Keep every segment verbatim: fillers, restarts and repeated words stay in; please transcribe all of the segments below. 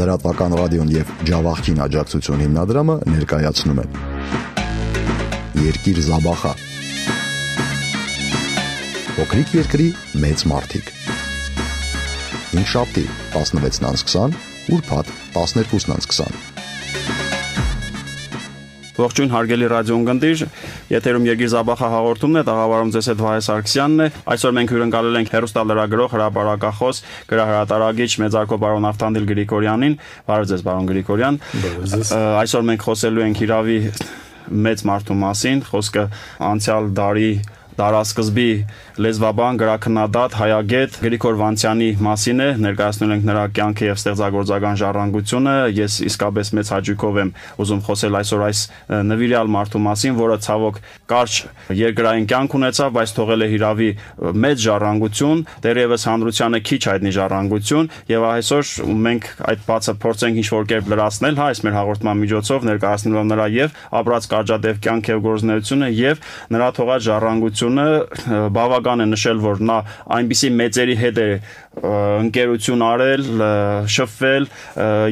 Լրատվական ռադիոն եւ Ջավախքին աջակցություն հիմնադրամը ներկայացնում են Երկիր Զաբախա Փոքրիկ երկրի մեծ մարդիկ Հինգշաբթի տասնվեցն անց քսան, ուրբաթ տասներկուսն անց քսան Ողջույն հարգելի ռադիոընկերներ, եթերում Երկիր Զաբախա հաղորդումն է, տաղավարում ձեզ հետ Վահե Սարգսյանն է։ Այսօր մենք հյուրընկալել ենք հեռուստալրագրող, հրապարակախոս, գրահրատարակիչ մեծարգո պարոն Ավտանդիլ Գրիգորյանին։ Բարև ձեզ, պարոն Գրիգորյան։ Այսօր մենք խոսելու ենք Իրավի մեծ մարդու մասին, խոսքը անցյալ դարի դարասկզբի լեզվաբան, գրաքննադատ, հայագետ Գրիգոր Վանցյանի մասին է, ներկայացնում ենք նրա կյանքը եւ ստեղծագործական ժառանգությունը։ Ես իսկապես մեծ հաճույքով եմ ուզում խոսել այսօր այս նվիրյալ մարդու մասին, որը ցավոք կարճ երկրային կյանք ունեցավ, բայց թողել է Իրավի մեծ ժառանգություն, դեռևս հանրությանը քիչ հայտնի ժառանգություն, եւ այսօր մենք այդ բացը փորձենք ինչ-որ կերպ լրացնել, հա, այս մեր հաղորդման միջոցով ներկայացնելով նրա եւ ապրած կարճատև կյանք եւ գործունեությունը եւ նրա թողած ժառանգությունը բավական է նշել, որ նա այնպիսի մեծերի հետ է ընկերություն արել, շփվել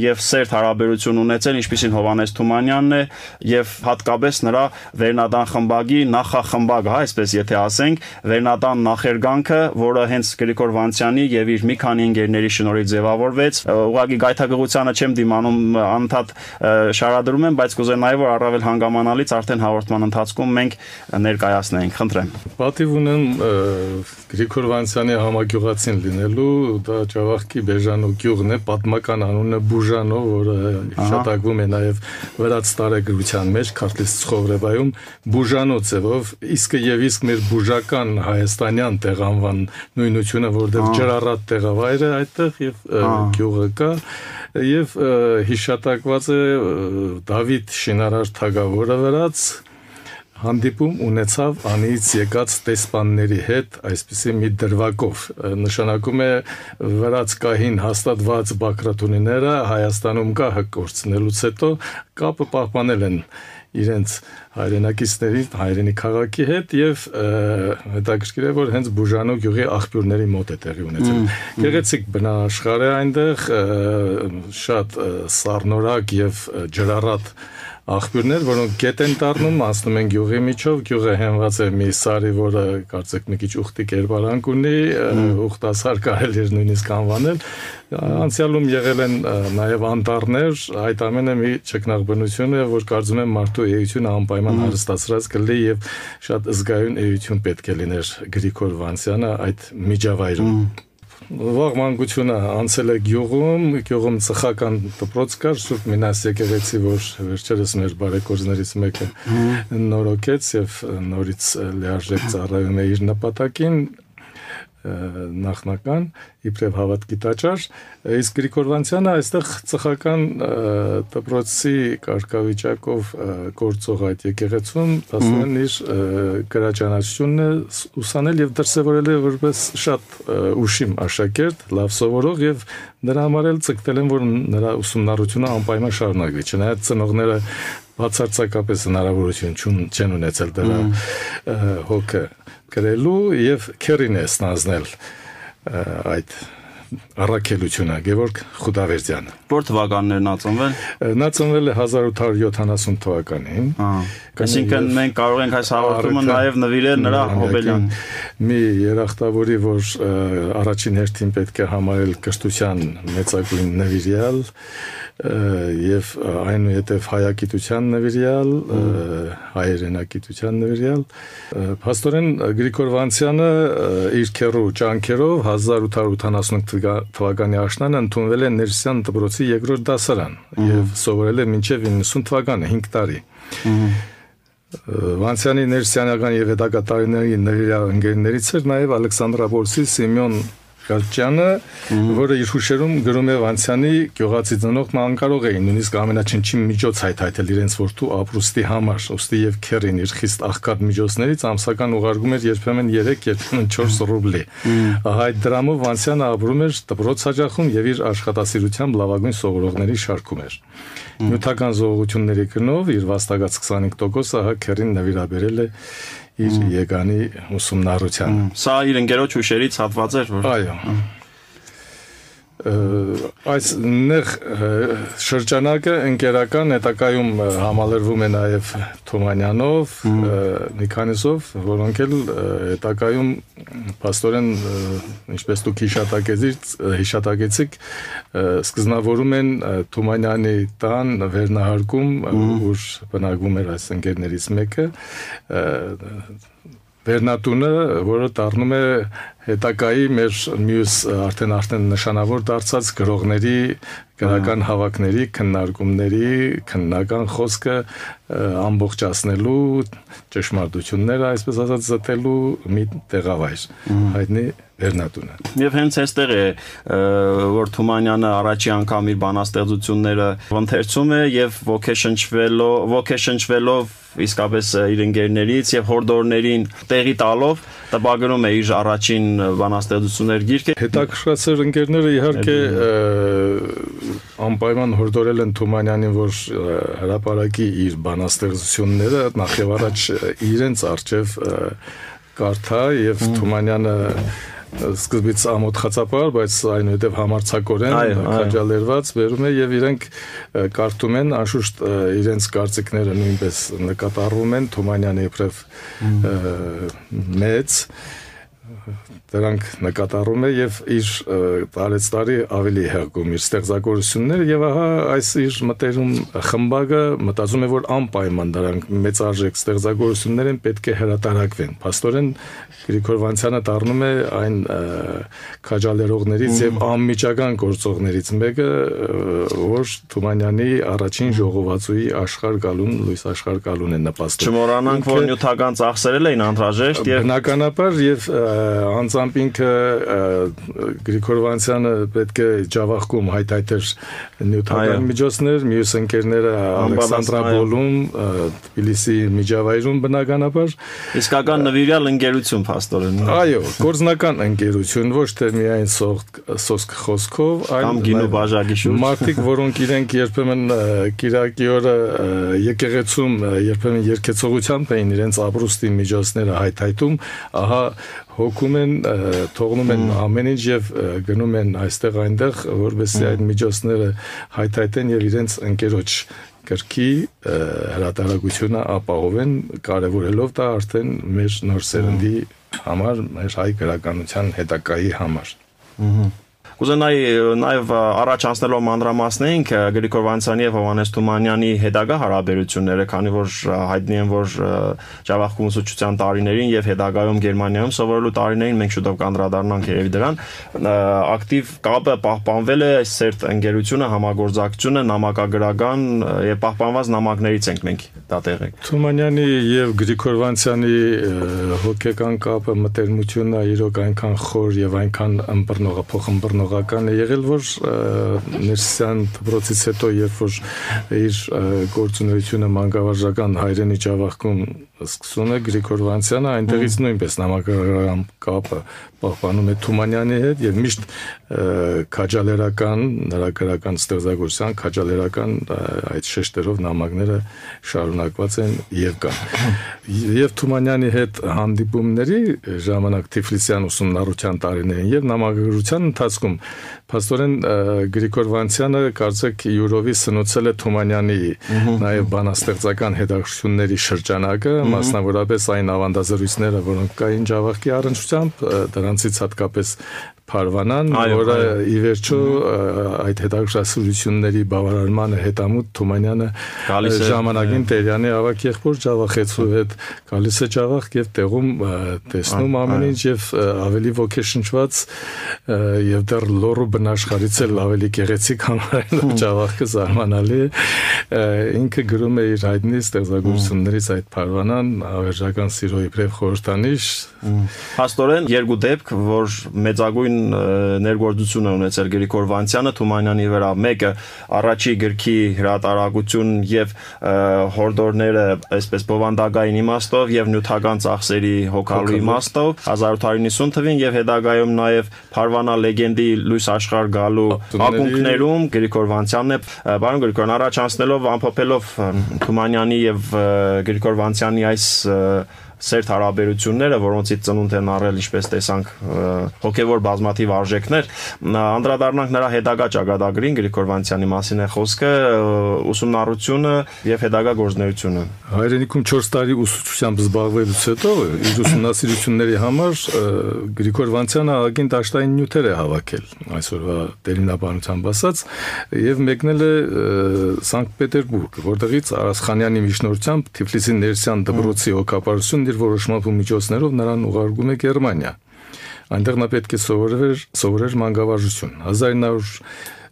եւ սերտ հարաբերություն ունեցել, ինչպիսին Հովհաննես Թումանյանն է եւ հատկապես նրա Վերնադան խմբագի նախախմբակը, հա, այսպես եթե ասենք, Վերնադան նախերգանքը, որը հենց Գրիգոր Վանցյանի եւ իր մի քանի ընկերների շնորհիվ ձևավորվեց, ուղղակի գայթակղությանը չեմ դիմանում, անընդհատ շարադրում եմ, բայց կուզեմ նաեւ որ առավել հանգամանալից արդեն հաղորդման ընթացքում մենք ներկայացնենք, խնդրեմ։ Պատիվ ունեմ Գրիգոր Վանցյանի համագյուղացին լինելու, դա Ջավախքի Բեժանո գյուղն է, պատմական անունը Բուժանո, որը հիշատակվում է նաև վրաց տարեգրության մեջ, Քարտլիս Ցխովրեվայում Բուժանո ձևով, իսկը եւ իսկ մեր բուժական հայաստանյան տեղանվան նույնությունը, որտեղ ջրառատ տեղավայր է այդտեղ եւ գյուղը կա եւ հիշատակված է Դավիթ Շինարար թագավորը վրաց հանդիպում ունեցավ անից եկած տեսպանների հետ այսպիսի մի դրվագով նշանակում է վրաց կահին հաստատված բակրատունիները Հայաստանում կա հկորցնելուց հետո կապը պահպանել են իրենց հայրենակիցների հայրենի քաղաքի հետ եւ հետաքրքիր է որ հենց Բուժանո գյուղի աղբյուրների մոտ է տեղի ունեցել գեղեցիկ բնաշխարհ է այնտեղ շատ սառնորակ եւ ջրառատ աղբյուրներ, որոնք գետ են դառնում, անցնում են գյուղի միջով, գյուղը հենված է մի սարի, որը կարծեք մի քիչ ուխտի կերպարանք ունի, ուխտասար կարելի է նույնիսկ անվանել։ Անցյալում եղել են նաև անտառներ, այդ ամենը մի ճգնաղբնություն է, որ կարծում եմ մարդու էությունը անպայման հարստացրած կլինի եւ շատ զգայուն էություն պետք է լիներ Գրիգոր Վանցյանը այդ միջավայրում։ Վաղ մանկությունը անցել է գյուղում, գյուղում ծխական դպրոց կար, Սուրբ Մինաս եկեղեցի, որ վերջերս մեր բարեկորզներից մեկը նորոգեց եւ նորից լիարժեք ծառայում է իր նպատակին նախնական իբրև հավատքի տաճար, իսկ Գրիգոր Վանցյանը այստեղ ծխական դպրոցի կարգավիճակով գործող այդ եկեղեցում ասում իր գրաճանաչությունն է ուսանել եւ դրսեւորել է որպես շատ ուշիմ աշակերտ, լավ սովորող եւ նրա համար էլ ցկտել են որ նրա ուսումնառությունը անպայման շարունակվի, չնայած ծնողները բացարձակապես հնարավորություն չեն ունեցել դրա հոգը գրելու եւ քերին է ստանձնել այդ առաքելությունը Գևորգ Խուդավերդյանը։ Որ թվականներ նա ծնվել։ Նա ծնվել է հազար ութ հարյուր յոթանասուն թվականին։ Այսինքն մենք կարող ենք այս հաղորդումը նաեւ նվիրել նրա հոբելյան մի երախտավորի, որ առաջին հերթին պետք է համարել կրթության մեծագույն նվիրյալ եւ այնուհետեւ հայագիտության նվիրյալ, հայերենակիտության նվիրյալ։ Փաստորեն Գրիգոր Վանցյանը իր քերու ջանքերով հազար ութ հարյուր ութանասուն թվականի աշնանը ընդունվել է Ներսյան դպրոցի երկրորդ դասարան եւ սովորել է մինչեւ իննսուն թվականը հինգ տարի։ Վանցյանի ներսյանական եւ հետագա տարիների նվիրյալ ընկերներից էր նաեւ Ալեքսանդրապոլսի Սիմեոն Կարճյանը, որը իր հուշերում գրում է Վանցյանի գյուղացի ծնողն անկարող էին նույնիսկ ամենաչնչին միջոց հայթայթել իրենց որդու ապրուստի համար, ուստի եւ քերին իր խիստ աղքատ միջոցներից ամսական ուղարկում էր երբեմն երեք, երբեմն չորս ռուբլի։ Այդ դրամով Վանցյանը ապրում էր դպրոց հաճախում եւ իր աշխատասիրությամբ լավագույն սովորողների շարքում էր։ Նյութական զողողությունների գնով իր վաստակած քսանհինգ տոկոսը հա քերին նվիրաբերել է իր եկանի ուսումնառությանը։ Սա իր ընկերոջ հուշերից հատված էր, որ այո։ Այս նեղ շրջանակը ընկերական հետակայում համալրվում է նաև Թումանյանով, մի քանիսով, որոնք էլ հետակայում փաստորեն ինչպես դուք հիշատակեցիք, սկզբնավորում են Թումանյանի տան վերնահարկում, ուր բնակվում էր այս ընկերներից մեկը, վերնատունը, որը դառնում է հետակայի մեր մյուս արդեն արդեն նշանավոր դարձած գրողների, գրական հավաքների, քննարկումների, քննական խոսքը ամբողջացնելու, ճշմարտությունները, այսպես ասած, զտելու մի տեղավայր, հայտնի վերնատունը։ Եվ հենց այստեղ է, որ Թումանյանը առաջի անգամ իր բանաստեղծությունները ընթերցում է եւ ոգեշնչվելով, ոգեշնչվելով իսկապես իր ընկերներից եւ հորդորներին տեղի տալով տպագրում է իր առաջին բանաստեղծություններ գիրքը։ Հետաքրքրացեր ընկերները իհարկե անպայման հորդորել են Թումանյանին, որ հրապարակի իր բանաստեղծությունները նախ եւ առաջ իրենց արժեվ կարդա եւ Թումանյանը սկզբից ամոթխածապար, բայց այնուհետև համարձակորեն քաջալերված վերում է եւ իրենք կարդում են, անշուշտ իրենց կարծիքները նույնպես նկատառվում են Թումանյանի իբրև մեծ դրանք նկատառում է եւ իր տարեց տարի ավելի հեղքում իր ստեղծագործությունները եւ ահա այս իր մտերում խմբակը մտածում է, որ անպայման դրանք մեծարժեք ստեղծագործություններ են, պետք է հրատարակվեն։ Փաստորեն Գրիգոր Վանցյանը դառնում է այն քաջալերողներից եւ անմիջական գործողներից մեկը, որ Թումանյանի առաջին ժողովածուի աշխարհ գալուն, լույս աշխարհ գալուն է նպաստում։ Չմոռանանք, որ նյութական ծախսերել էին անհրաժեշտ եւ բնականաբար եւ անձամբ ինքը Գրիգոր Վանցյանը պետք է ջավախքում հայտայտեր նյութական միջոցներ, մյուս ընկերները Ալեքսանդրապոլում, Թբիլիսի միջավայրում բնականաբար իսկական նվիրյալ ընկերություն փաստորեն։ Այո, գործնական ընկերություն, ոչ թե միայն սոսկ խոսքով, այլ գինու բաժակի շուրջ։ Մարդիկ, որոնք իրենք երբեմն կիրակի օրը եկեղեցում երբեմն երկեցողությամբ էին իրենց ապրուստի միջոցները հայտայտում, ահա հոգում են, թողնում են ամեն ինչ եւ գնում են այստեղ այնտեղ, որովհետեւ այդ միջոցները հայտայտեն եւ իրենց ընկերոջ կրքի հրատարակությունը ապահովեն, կարևորելով դա արդեն մեր նոր սերնդի համար, մեր հայ գրականության հետակայի համար։ Կուզենայի նաև առաջ անցնելով մանրամասնենք Գրիգոր Վանցյանի եւ Հովհաննես Թումանյանի հետագա հարաբերությունները, քանի որ հայտնի են, որ Ջավախքում ուսուցչության տարիներին եւ հետագայում Գերմանիայում սովորելու տարիներին մենք շուտով կանդրադառնանք երևի դրան, ակտիվ կապը պահպանվել է, սերտ ընկերությունը, համագործակցությունը, նամակագրական եւ պահպանված նամակներից ենք մենք դա տեղեկ։ Թումանյանի եւ Գրիգոր Վանցյանի հոգեկան կապը, մտերմությունը իրոք այնքան խոր եւ այնքան ըմբռնողը փոխըմբռնող է եղել, որ ներսյան դպրոցից հետո, երբ որ իր գործունեությունը մանկավարժական հայրենի Ջավախքում սկսում է Գրիգոր Վանցյանը, այնտեղից նույնպես նամակագրական կապը պահպանում է Թումանյանի հետ եւ միշտ քաջալերական, նրա գրական ստեղծագործության քաջալերական այդ շեշտերով նամակները շարունակված են եւ կան։ Եվ Թումանյանի հետ հանդիպումների ժամանակ Թիֆլիսյան ուսումնառության տարիներին եւ նամակագրության ընթացքում փաստորեն Գրիգոր Վանցյանը կարծեք յուրովի սնուցել է Թումանյանի նաեւ բանաստեղծական հետաքրքրությունների շրջանակը, մասնավորապես այն ավանդազրույցները, որոնք կային Ջավախքի առնչությամբ, դրանցից հատկապես Փարվանան, որը ի վերջո այդ հետաքրքրասիրությունների բավարարմանը հետամուտ Թումանյանը ժամանակին Տերյանի ավակ եղբոր Ջավախեցու հետ գալիս է Ջավախք եւ տեղում տեսնում ամեն ինչ եւ ավելի ոգեշնչված եւ դեռ լոռու բնաշխարից էլ ավելի գեղեցիկ համարելով Ջավախքը զարմանալի է, ինքը գրում է իր հայտնի ստեղծագործություններից այդ Փարվանան ավերժական սիրո իբրև խորհրդանիշ։ Փաստորեն երկու դեպք, որ մեծագույն ներգործություն է ունեցել Գրիգոր Վանցյանը Թումանյանի վրա, մեկը առաջի գրքի հրատարակություն եւ հորդորները այսպես բովանդակային իմաստով եւ նյութական ծախսերի հոգալու իմաստով հազար ութ հարյուր նվաթ թվին եւ հետագայում նաեւ Փարվանա լեգենդի լույս աշխարհ գալու ակունքներում Գրիգոր Վանցյանն է, բարոն Գրիգորյան, առաջ անցնելով ամփոփելով Թումանյանի եւ Գրիգոր Վանցյանի այս սերտ հարաբերությունները, որոնցից ծնունդ են առել, ինչպես տեսանք, հոգևոր բազմաթիվ արժեքներ, անդրադառնանք նրա հետագա ճակատագրին, Գրիգոր Վանցյանի մասին է խոսքը, ուսումնառությունը եւ հետագա գործունեությունը։ Հայրենիքում չորս տարի ուսուցչությամբ զբաղվելուց հետո իր ուսումնասիրությունների համար Գրիգոր Վանցյանը ագին դաշտային նյութեր է հավաքել, այսօրվա տերմինաբանությամբ ասած, եւ մեկնել է Սանկտ Պետերբուրգ, որտեղից Արասխանյանի միջնորդությամբ Թիֆլիսի Ներսյան դպրոցի հոգապարությունն իր որոշմամբ ու միջոցներով նրան ուղարկում է Գերմանիա։ Այնտեղ նա պետք է սովորեր, սովորեր մանկավարժություն։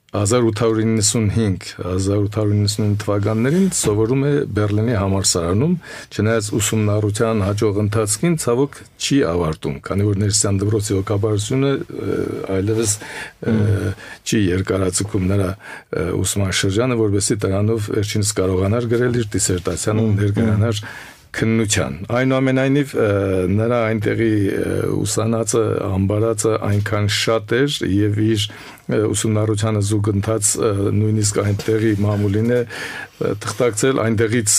հազար ութ հարյուր իննսունհինգ հազար ութ հարյուր իննսունհինգ թվականներին սովորում է Բերլինի համալսարանում, չնայած ուսումնառության հաջող ընթացքին ցավոք չի ավարտում, քանի որ Ներսյան դպրոցի հոգաբարձությունը այլևս չի երկարաձգում նրա ուսման շրջանը, որովհետեւ դրանով վերջինս կարողանար գրել իր դիսերտացիան ու ներկայանալ քննության։ Այնուամենայնիվ նրա այնտեղի ուսանածը, ամբարածը այնքան շատ էր եւ իր ուսումնառությանը զուգընթաց նույնիսկ այնտեղի մամուլին է թղթակցել այնտեղից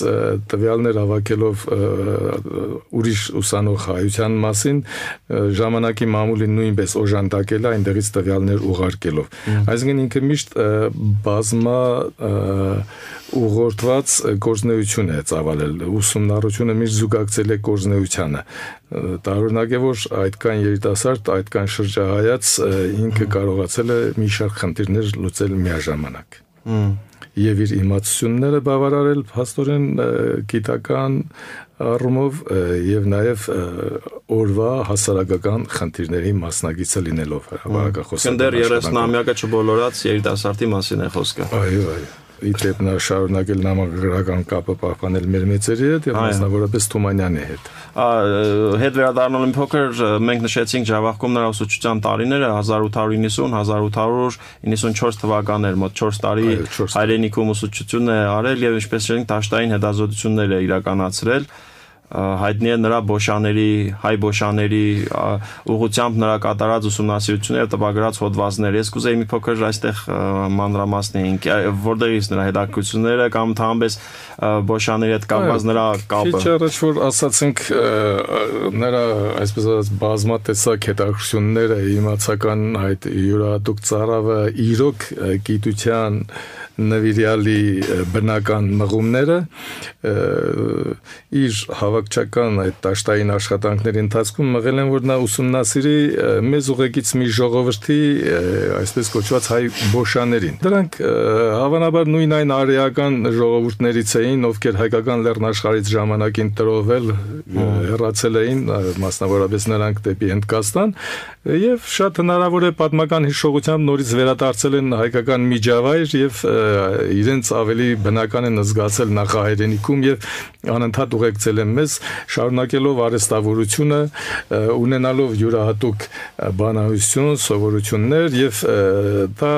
տվյալներ հավաքելով ուրիշ ուսանող հայության մասին, ժամանակի մամուլին նույնպես օժանդակել է այնտեղից տվյալներ ուղարկելով։ Այսինքն ինքը միշտ բազմա ուղղորդված գործունեություն է ծավալել, ուսումնառությունը միշտ զուգակցել է գործունեությանը։ Տարօրինակ է, որ այդքան երիտասարդ, այդքան շրջահայաց ինքը կարողացել է մի շարք խնդիրներ լուծել միաժամանակ։ Եվ իր իմացությունները բավարարել փաստորեն գիտական առումով եւ նաեւ օրվա հասարակական խնդիրների մասնագիծը լինելով հրապարակախոսը։ Դեռ երեսնամյակը չբոլորած երիտասարդի մասին է խոսքը։ Այո, այո։ Իդեպ նա շարունակել նամակագրական կապը պահպանել մեր մեծերի հետ եւ մասնավորապես Թումանյանի հետ։ Հետ վերադառնալու փոքր մենք նշեցինք Ջավախքում նրա ուսուցչության տարիները հազար ութ հարյուր իննսուն հազար ութ հարյուր իննսունչորս թվականներ, մոտ չորս տարի հայրենիքում ուսուցչություն է արել եւ ինչպես ասենք դաշտային հետազոտություններ է իրականացրել։ Հայտնի է նրա բոշաների, հայ բոշաների ուղղությամբ նրա կատարած ուսումնասիրությունները տպագրած հոդվածներ։ Ես կուզեի մի փոքր այստեղ մանրամասնեինք, որտեղից նրա հետաքրքրությունները կամ թամբես բոշաների հետ կապված նրա կապը։ Քիչ առաջ որ ասացինք նրա այսպես ասած բազմատեսակ հետաքրքրությունները, իմացական այդ յուրահատուկ ծառավը, իրոք գիտության նվիրյալի բնական մղումները իր հավաքչական այդ դաշտային աշխատանքների ընթացքում մղել են, որ նա ուսումնասիրի մեզ ուղեկից մի ժողովրդի այսպես կոչված հայ բոշաներին։ Դրանք հավանաբար նույն այն արեական ժողովուրդներից էին, ովքեր հայկական լեռնաշխարհից ժամանակին տրովել, հեռացել էին, մասնավորապես նրանք դեպի Հնդկաստան, եւ շատ հնարավոր է պատմական հիշողությամբ նորից վերադարձել են հայկական միջավայր եւ իրենց ավելի բնական են զգացել նախահայրենիքում եւ անընդհատ ուղեկցել են մեզ, շարունակելով արհեստավորությունը, ունենալով յուրահատուկ բանահյուսություն, սովորություններ եւ դա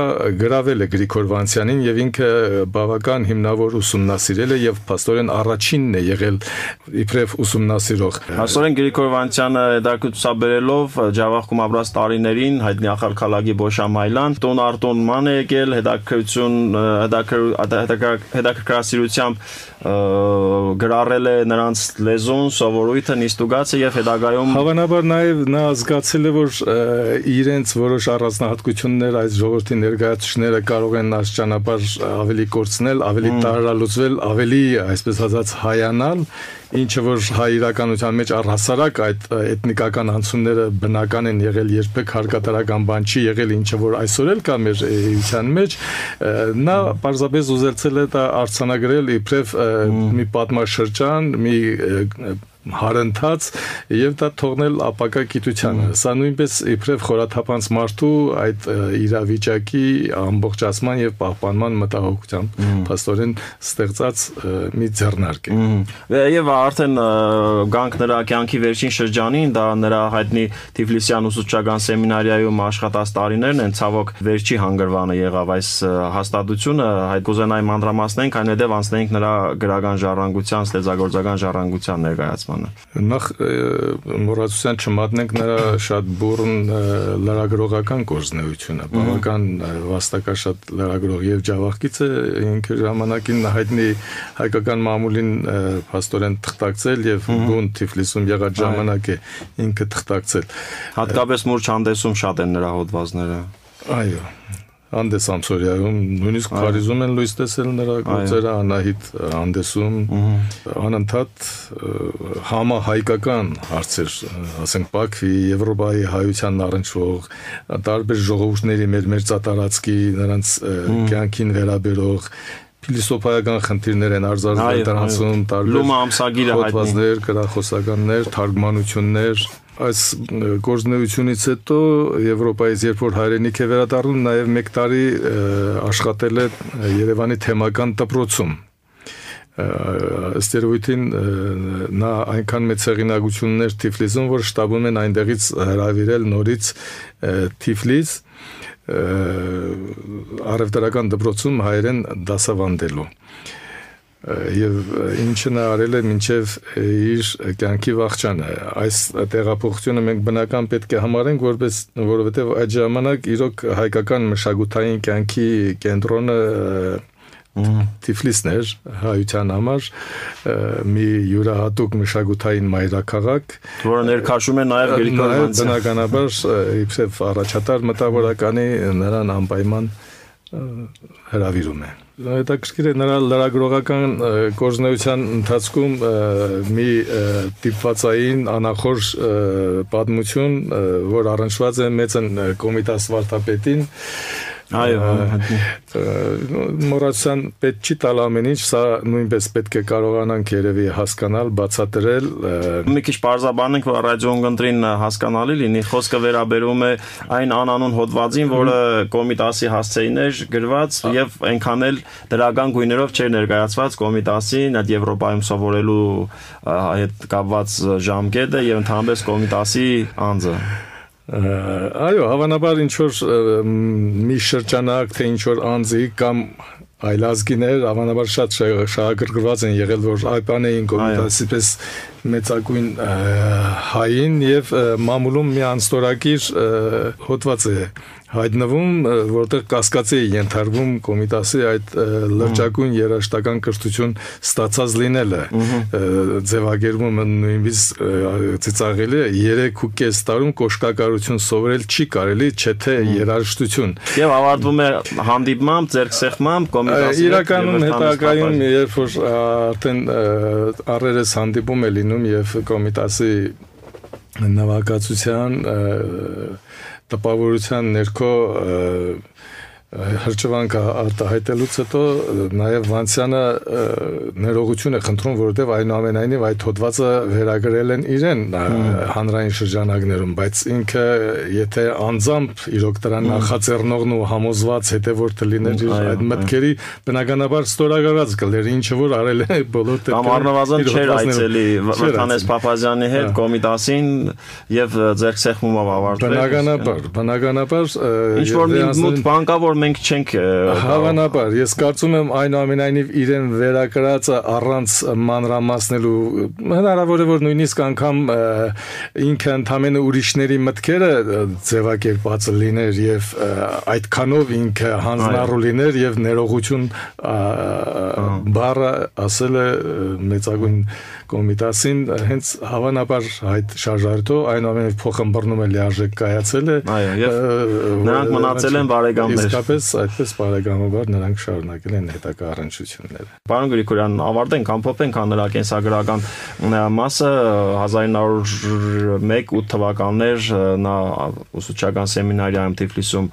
գրավել է Գրիգոր Վանցյանին եւ ինքը բավական հիմնավոր ուսումնասիրել է եւ փաստորեն առաջինն է եղել իբրև ուսումնասիրող։ Փաստորեն Գրիգոր Վանցյանը դակուցաբերելով Ջավախքում ապրած տարիներին հայտնի Ախալքալագի Բոշամայլան տոն արտոն ման է եկել հետաքրություն հետաքրքրասիրությամբ գրառել է նրանց լեզուն, սովորույթը, նիստուգացը եւ հետագայում հավանաբար նաեւ նա զգացել է, որ իրենց որոշ առանձնահատկություններ այս ժողովրդի ներկայացուցիչները կարող են այս ճանապարհ ավելի կորցնել, ավելի տարրալուծվել, ավելի այսպես ասած հայանալ, ինչը որ հայ իրականության մեջ առհասարակ այդ էթնիկական անցումները բնական են եղել, երբեք հարկատարական բան չի եղել, ինչը որ այսօր էլ կա մեր էության մեջ, նա պարզապես ուզեցել է դա արձանագրել իբրև մի պատմաշրջան, մի հարընթաց եւ դա թողնել ապակա գիտությանը։ Սա նույնպես իբրև խորաթափանց մարդու այդ իրավիճակի ամբողջացման եւ պահպանման մտահոգությամբ փաստորեն ստեղծած մի ձեռնարկ է։ Եվ արդեն գանք նրա կյանքի վերջին շրջանին, դա նրա հայտնի Թիֆլիսյան ուսուցչական սեմինարիայում աշխատած տարիներն են, ցավոք վերջի հանգրվանը եղավ այս հաստատությունը, այդ կուզենայի մանրամասնենք, այնուհետև անցնենք նրա գրական ժառանգության, ստեղծագործական ժառանգության ներկայացման։ ներկայացմանը։ Նախ մոռացության չմատնենք նրա շատ բուրըն լրագրողական գործունեությունը, բավական վաստակաշատ լրագրող եւ ջավախքից է, ինքը ժամանակին հայտնի հայկական մամուլին փաստորեն թղթակցել եւ բուն Թիֆլիսում եղած ժամանակ է ինքը թղթակցել։ Հատկապես մուրջ հանդեսում շատ են նրա հոդվածները։ Այո, Հանդես Ամսորյայում, նույնիսկ Փարիզում են լույս տեսել նրա գործերը, Անահիտ հանդեսում, անընդհատ համահայկական հարցեր, ասենք Բաքվի, Եվրոպայի հայության առնչվող, տարբեր ժողովուրդների մեր մերձատարածքի նրանց կյանքին վերաբերող փիլիսոփայական խնդիրներ են արձանագրել դրանցում, տարբեր հոդվածներ, գրախոսականներ, թարգմանություններ։ Այս գործունեությունից հետո Եվրոպայից երբ որ հայրենիք է վերադառնում, նաև մեկ տարի աշխատել է Երևանի թեմական դպրոցում։ Ըստ երևույթին նա այնքան մեծ հեղինակություններ Թիֆլիսում, որ շտաբում են այնտեղից հրավիրել նորից Թիֆլիս առևտրական դպրոցում հայերեն դասավանդելու։ Եվ ինչը նա արել է մինչև իր կյանքի վախճանը։ Այս տեղափոխությունը մենք բնական պետք է համարենք, որպես որովհետև այդ ժամանակ իրոք հայկական մշակութային կյանքի կենտրոնը Թիֆլիսն էր հայության համար, մի յուրահատուկ մշակութային մայրաքաղաք, որը ներքաշում է նաև Գրիգոր Վանցյանը։ Բնականաբար իբրև առաջատար մտավորականի նրան անպայման հրավիրում է։ Հետաքրքիր է նրա լրագրողական գործունեության ընթացքում մի տիպվածային անախորժ պատմություն, որ առնչված է մեծն Կոմիտաս վարդապետին։ Այո, մոռացան պետք չի տալ ամեն ինչ, սա նույնպես պետք է կարողանանք երևի հասկանալ, բացատրել։ Մի քիչ պարզաբանենք, որ ռադիոընկերին հասկանալի լինի, խոսքը վերաբերում է այն անանուն հոդվածին, որը Կոմիտասի հասցեին էր գրված եւ այնքան էլ դրական գույներով չէր ներկայացված Կոմիտասին, այդ Եվրոպայում սովորելու հետ կապված ժամկետը եւ ընդհանրապես Կոմիտասի անձը։ Այո, հավանաբար ինչ որ մի շրջանակ, թե ինչ որ անձի կամ այլազգիներ, հավանաբար շատ շահագրգռված են եղել, որ այպան էին Կոմիտասի պես մեծագույն հային եւ մամուլում մի անստորակիր հոդված է հայտնվում, որտեղ կասկածի է ենթարկվում Կոմիտասի այդ լրջագույն երաժշտական կրթություն ստացած լինելը, ձևակերպումը նույնիսկ ծիծաղելի է, երեք ու կես տարում կոշկակարություն սովորել չի կարելի, չէ թե երաժշտություն։ Եվ ավարտվում է հանդիպմամբ, ձեռքսեղմամբ Կոմիտասի։ Իրականում հետագայում, երբ որ արդեն առերես հանդիպում է լինում եւ Կոմիտասի նվագածության տպավորության ներքո հրճվանքը արտահայտելուց հետո նաև Վանցյանը ներողություն է խնդրում, որովհետև այնուամենայնիվ այդ հոդվածը վերագրել են իրեն հանրային շրջանակներում, բայց ինքը եթե անձամբ իրոք դրան նախաձեռնողն ու համոզված հետևորդը լիներ իր այդ մտքերի, բնականաբար ստորագրված կլեր, ինչը որ արել է բոլոր դեպքերում։ Կամ առնվազն չէր այցելի Վրթանես Փափազյանի հետ Կոմիտասին եւ ձեռքսեղմումով ավարտվել։ Բնականաբար, բնականաբար ինչ որ մի մութ բան կա, որ մենք չենք հավանաբար, ես կարծում եմ այնուամենայնիվ իրեն վերակրածը առանց մանրամասնելու, հնարավոր է որ նույնիսկ անգամ ինքը ընդամենը ուրիշների մտքերը ձևակերպած լիներ եւ այդքանով ինքը հանձնառու լիներ եւ ներողություն բառը ասել է մեծագույն Կոմիտասին, հենց հավանաբար այդ շարժարդով այնուամենայնիվ փոխմբռնում է լիարժեք կայացել է։ Այո, եւ նրանք մնացել են բարեկամներ։ Իսկապես այդպես բարեկամաբար նրանք շարունակել են հետագա առնչությունները։ Պարոն Գրիգորյան, ավարտենք, ամփոփենք նրա կենսագրական մասը հազար իննսուն ու մեկ թվականներ նա ուսուցչական սեմինարիայում Թիֆլիսում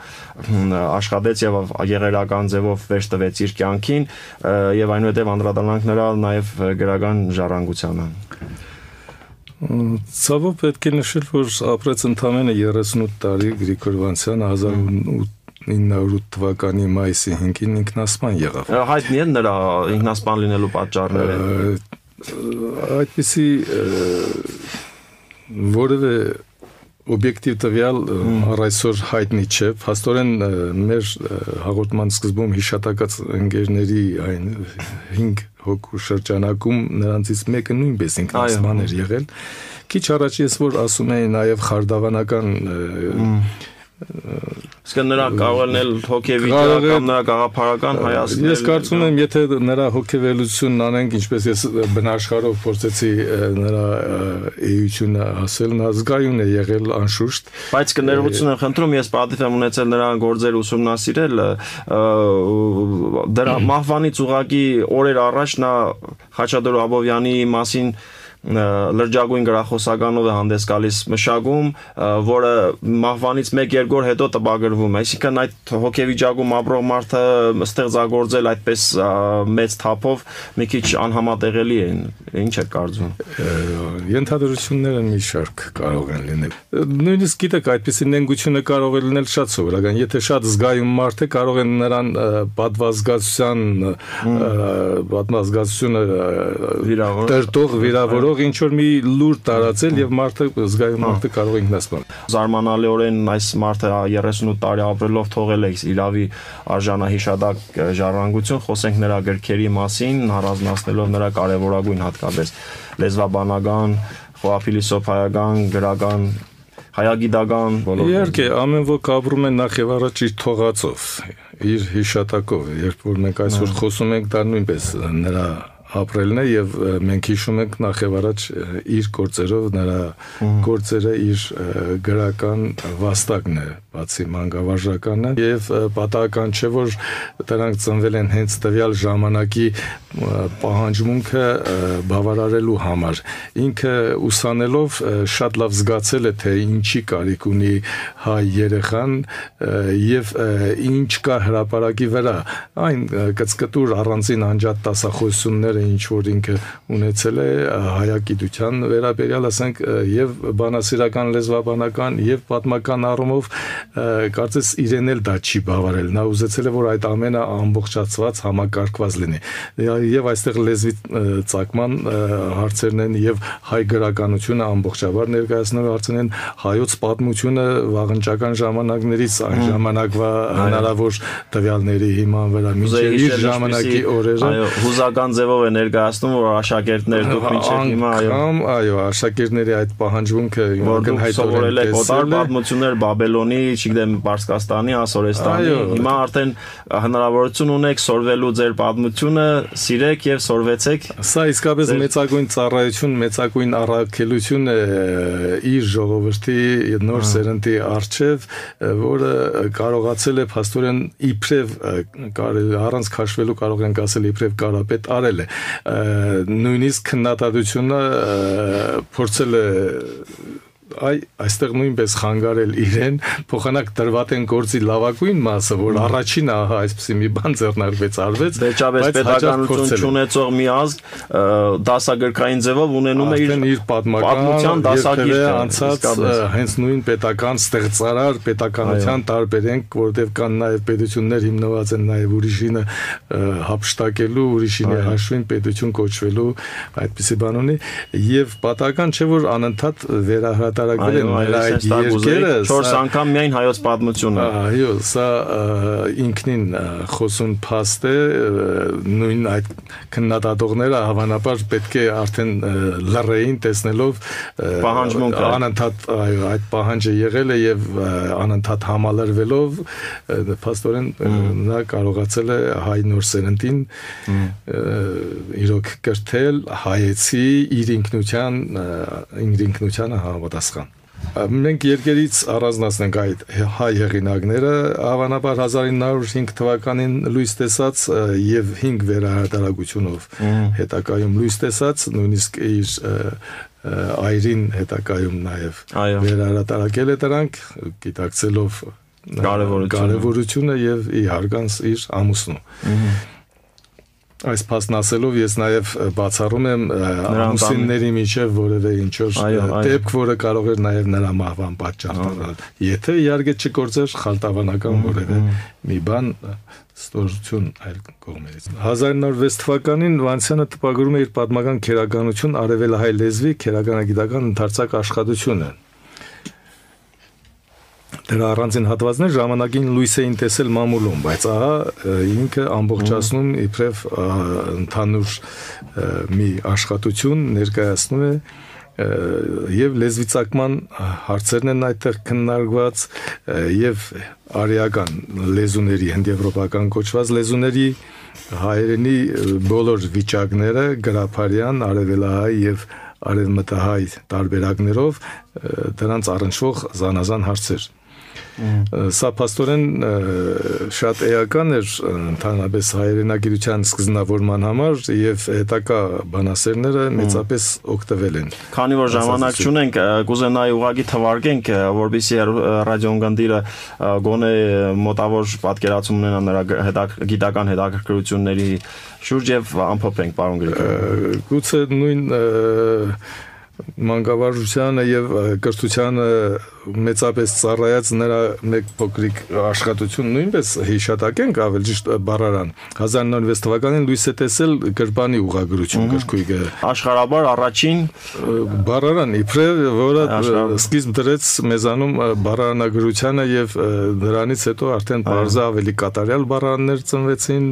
աշխատեց եւ եղերական ձևով վերջ տվեց իր կյանքին եւ այնուհետեւ անդրադառնանք նրա նաեւ գրական ժառանգությանը։ Ցավոք պետք է նշել, որ ապրեց ընդամենը երեսունութ տարի Գրիգոր Վանցյանը հազար իննսուն ու թվականի մայիսի հինգին ինքնասպան եղավ։ Հայտնի են նրա ինքնասպան լինելու պատճառները։ Այդպիսի որևէ օբյեկտիվ տվյալ առ այսօր հայտնի չէ, փաստորեն մեր հաղորդման սկզբում հիշատակած ընկերների այն հինգ հոգու շրջանակում նրանցից մեկը նույնպես ինքնասման էր եղել։ Քիչ առաջ ես որ ասում էի նաև խարդավանական Իսկ նրա կարող էլ հոգեվիճակ կամ նրա գաղափարական հայացքն Ես կարծում եմ, եթե նրա հոգեվերլությունն անենք, ինչպես ես բնաշխարհով փորձեցի նրա էությունը ասել, նա զգայուն է եղել անշուշտ, բայց կներողություն եմ խնդրում, ես պատիվ եմ ունեցել նրա գործերը ուսումնասիրել, դրա մահվանից ուղղակի օրեր առաջ նա Խաչատուր Աբովյանի մասին լրջագույն գրախոսականով է հանդես գալիս մշակում, որը մահվանից մեկ-երկու օր հետո տպագրվում է, այսինքն այդ հոգեվիճակում ապրող մարդը ստեղծագործել այդպես մեծ թափով մի քիչ անհամատեղելի է, ինչ է կարծում։ Ենթադրությունները մի շարք կարող են լինել։ Նույնիսկ գիտեք, այդպիսի նենգությունը կարող է լինել շատ սովորական, եթե շատ զգայուն մարդ է, կարող են նրան պատվազգացության պատվազգացությունը տրտող վիրավորող ինչ որ մի լուր տարածել եւ մարդը զգայուն մարդը կարող է ինքնասպան։ Զարմանալիորեն այս մարդը երեսունութ տարի ապրելով թողել է իրավի արժանահիշադակ ժառանգություն, խոսենք նրա գրքերի մասին, առանձնացնելով նրա կարևորագույն հատկապես լեզվաբանական, խոհափիլիսոփայական, գրական, հայագիտական բոլոր։ Իհարկե, ամեն ոք ապրում է նախ եւ առաջ իր թողածով, իր հիշատակով, երբ որ մենք այսօր խոսում ենք, դա նույնպես նրա ապրելն է եւ մենք հիշում ենք նախ եւ առաջ իր գործերով նրա գործերը իր գրական վաստակն է բացի մանկավարժականը եւ պատահական չէ որ դրանք ծնվել են հենց տվյալ ժամանակի պահանջմունքը բավարարելու համար ինքը ուսանելով շատ լավ զգացել է թե ինչի կարիք ունի հայ երեխան եւ ինչ կա հրապարակի վրա այն կծկտուր առանձին անջատ տասախոսություններ ինչ որ ինքը ունեցել է հայագիտության վերաբերյալ ասենք եւ բանասիրական լեզվաբանական եւ պատմական առումով կարծես իրեն էլ դա չի բավարարել նա ուզեցել է որ այդ ամենը ամբողջացված համակարգված լինի եւ այստեղ լեզվի ծագման հարցերն են եւ հայ գրականությունը ամբողջաբար ներկայացնող հարցերն են հայոց պատմությունը վաղնջական ժամանակներից այն ժամանակվա հնարավոր տվյալների հիման վրա մինչեւ իր ժամանակի օրերը այո հուզական ձևով է ներկայացնում որ աշակերտներ դուք մինչև հիմա այո այո աշակերտների այդ պահանջմունքը ակնհայտորեն է կոտար պատմություններ Բաբելոնի, չգիտեմ, Պարսկաստանի, Ասորեստանի, հիմա արդեն հնարավորություն ունեք սորվելու ձեր պատմությունը, սիրեք եւ սորվեցեք։ Սա իսկապես մեծագույն ծառայություն, մեծագույն առաքելություն է իր ժողովրդի նոր սերնդի արչեւ, որը կարողացել է փաստորեն իբրև առանց քաշվելու կարող ենք ասել իբրև կարապետ արել է նույնիսկ քննադատությունը փորձել է այ այստեղ նույնպես խանգարել իրեն փոխանակ դրված են գործի լավագույն մասը որ առաջին ահա այսպեսի մի բան ձեռնարկվեց արվեց վերջապես պետականություն չունեցող մի ազգ դասագրքային ձևով ունենում է իր պատմության դասագիրքը անցած հենց նույն պետական ստեղծարար պետականության տարբերենք որտեղ կան նաև պետություններ հիմնված են նաև ուրիշինը հափշտակելու ուրիշինի հաշվին պետություն կոչվելու այդպիսի բան ունի եւ պատահական չէ որ անընդհատ վերահրատարակվել են նրա այդ երկերը չորս անգամ միայն հայոց պատմությունը այո սա ինքնին խոսուն փաստ է նույն այդ քննադատողները հավանաբար պետք է արդեն լռեին տեսնելով պահանջմունքը անընդհատ այո այդ պահանջը եղել է եւ անընդհատ համալրվելով փաստորեն նա կարողացել է հայ նոր սերնդին իրոք կրթել հայեցի իր ինքնության իր ինքնությանը համապատասխան Մենք երկերից առանձնացնենք այդ հայ հեղինակները հավանաբար հազար ինը հարյուր հինգ թվականին լույս տեսած եւ հինգ վերահրատարակությունով հետակայում լույս տեսած նույնիսկ իր այրին հետակայում նաեւ վերահրատարակել է դրանք գիտակցելով կարևորությունը եւ իհարկանց իր ամուսնու Այս փաստն ասելով ես նաև բացառում եմ ամուսինների միջև որևէ ինչ-որ դեպք, որը կարող էր նաև նրա մահվան պատճառ դառնալ։ Եթե իհարկե չգործեր խալտավանական որևէ մի բան ստորություն այլ կողմերից։ հազար ինը հարյուր վեց թվականին Վանցյանը տպագրում է իր պատմական քերականություն արևելահայ լեզվի քերականագիտական ընդարձակ աշխատությունը։ Դրա առանձին հատվածներ ժամանակին լույս էին տեսել մամուլում, բայց ահա ինքը ամբողջացնում իբրև ընդհանուր մի աշխատություն ներկայացնում է եւ լեզվիծակման հարցերն են այդտեղ քննարկված եւ արիական լեզուների, հնդեվրոպական կոչված լեզուների հայերենի բոլոր վիճակները գրափարյան, արևելահայ եւ արևմտահայ տարբերակներով դրանց առնչվող զանազան հարցեր։ Սա փաստորեն շատ էական էր ընդհանրապես հայերենագիտության սկզբնավորման համար եւ հետագա բանասերները մեծապես օգտվել են։ Քանի որ ժամանակ չունենք, կուզենայի ուղղակի թվարկենք, որպեսզի ռադիոընկերները գոնե մոտավոր պատկերացում ունենան նրա գիտական հետաքրքրությունների շուրջ եւ ամփոփենք, պարոն Գրիգորյան։ Գուցե նույն մանկավարժությանը եւ կրթությանը մեծապես ծառայած նրա մեկ փոքրիկ աշխատություն նույնպես հիշատակենք ավելի ճիշտ բառարան հազար նոր վեց թվականին լույս է տեսել գրպանի ուղղագրություն գրքույկը աշխարհաբար առաջին բառարան իբրև որը սկիզբ դրեց մեզանում բառարանագրությանը եւ դրանից հետո արդեն բարձր ավելի կատարյալ բառարաններ ծնվեցին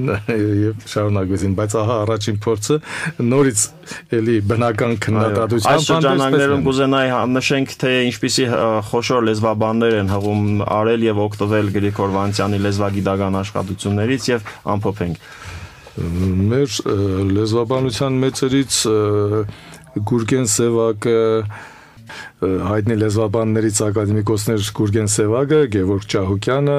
եւ շարունակվեցին բայց ահա առաջին փորձը նորից էլի բնական քննադատությամբ Շրջաններում կուզենայի նշենք, թե ինչպիսի խոշոր լեզվաբաններ են հղում արել եւ օգտվել Գրիգոր Վանցյանի լեզվագիտական աշխատություններից եւ ամփոփենք։ Մեր լեզվաբանության մեծերից Գուրգեն Սևակը, հայտնի լեզվաբաններից ակադեմիկոսներ Գուրգեն Սևակը, Գևորգ Ճահուկյանը,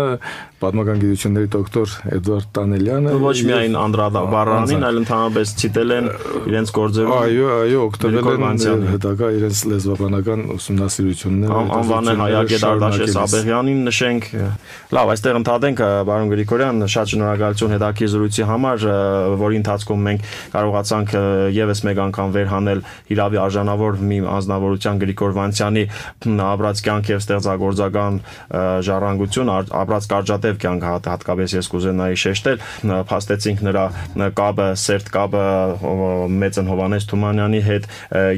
պատմական գիտությունների դոկտոր Էդվարդ Տանելյանը ոչ միայն անդրադառնալին, այլ ընդհանրապես ցիտել են իրենց գործերում։ Այո, այո, օգտվել են հետագա իրենց լեզվաբանական ուսումնասիրությունները։ Անվանեն Հայագետ Արտաշես Աբեղյանին նշենք։ Լավ, այստեղ ընդհատենք, պարոն Գրիգորյան, շատ շնորհակալություն հետաքրքիր զրույցի համար, որի ընթացքում մենք կարողացանք եւս մեկ անգամ վերհանել հիրավի արժանավոր մի անձնավորության Գրիգոր Վանցյանի ապրած կյանք եւ ստեղծագործական ժառանգություն, ապրած կարճատև կյանք հատկապես ես կուզենայի շեշտել, փաստեցինք նրա կապը, սերտ կապը Մեծն Հովհաննես Թումանյանի հետ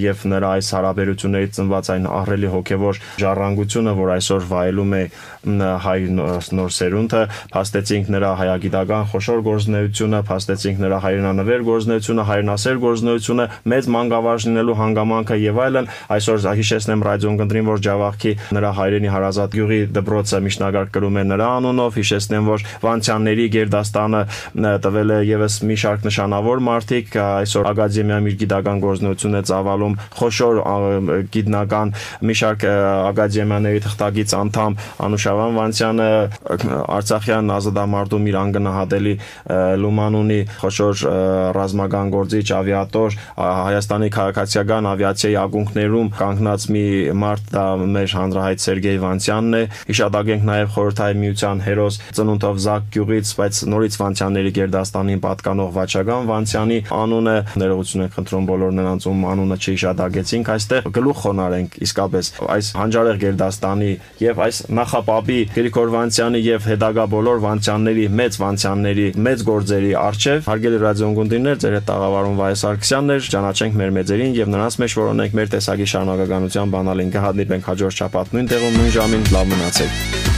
եւ նրա այս հարաբերություններից ծնված այն ահռելի հոգեվոր ժառանգությունը, որ այսօր վայելում է հայ նոր սերունդը, փաստեցինք նրա հայագիտական խոշոր գործունեությունը, փաստեցինք նրա հայրենանվեր գործունեությունը, հայրենասեր գործունեությունը, մեծ մանկավարժ լինելու հանգամանքը եւ այլն, այսօր հիշեցնեմ ռադիոընկերներին, որ Ջավախքի նրա հայրենի հարազատ գյուղի դպրոցը միջնագարկ կրում է նրա անունով, հիշեցնեմ, որ Վանցյանների գերդաստանը տվել է եւս մի շարք նշանավոր մարդիկ, այսօր ակադեմիայում իր գիտական գործունեությունը ծավալում խոշոր գիտնական մի շարք ակադեմիաների թղթակից անդամ Անուշավան Վանցյանը, Արցախյան ազատամարտում իր անգնահատելի լուման ունի, խոշոր ռազմական գործիչ, ավիատոր, Հայաստանի քաղաքացիական ավիացիայի ակունքներում կանգնած մի մարդ, դա մեր հանրահայտ Սերգեյ Վանցյանն է, հիշատակենք նաև Խորհրդային Միության հերոս ծնունդով Զակ գյուղից, բայց նորից Վանցյանների գերդաստանին պատկանող Վաչագան Վանցյանի անունը, ներողություն եք խնդրում բոլոր նրանց, ում անունը չհիշատակեցինք, այստեղ գլուխ խոնարհենք իսկապես այս հանճարեղ գերդաստանի եւ այս նախապապի Գրիգոր Վանցյանի եւ հետագա բոլոր Վանցյանների, մեծ Վանցյանների, մեծ գործերի արժեվ։ Հարգելի ռադիոընկերներ, ձեր հետ տաղավարում Վահե Սարգսյանն էր, ճանաչենք մեր մեծերին եւ նրանց մեջ որոնենք մեր տեսակի շարունակականության բանալին կհանդիպենք հաջորդ շաբաթ նույն տեղում նույն ժամին, լավ մնացեք։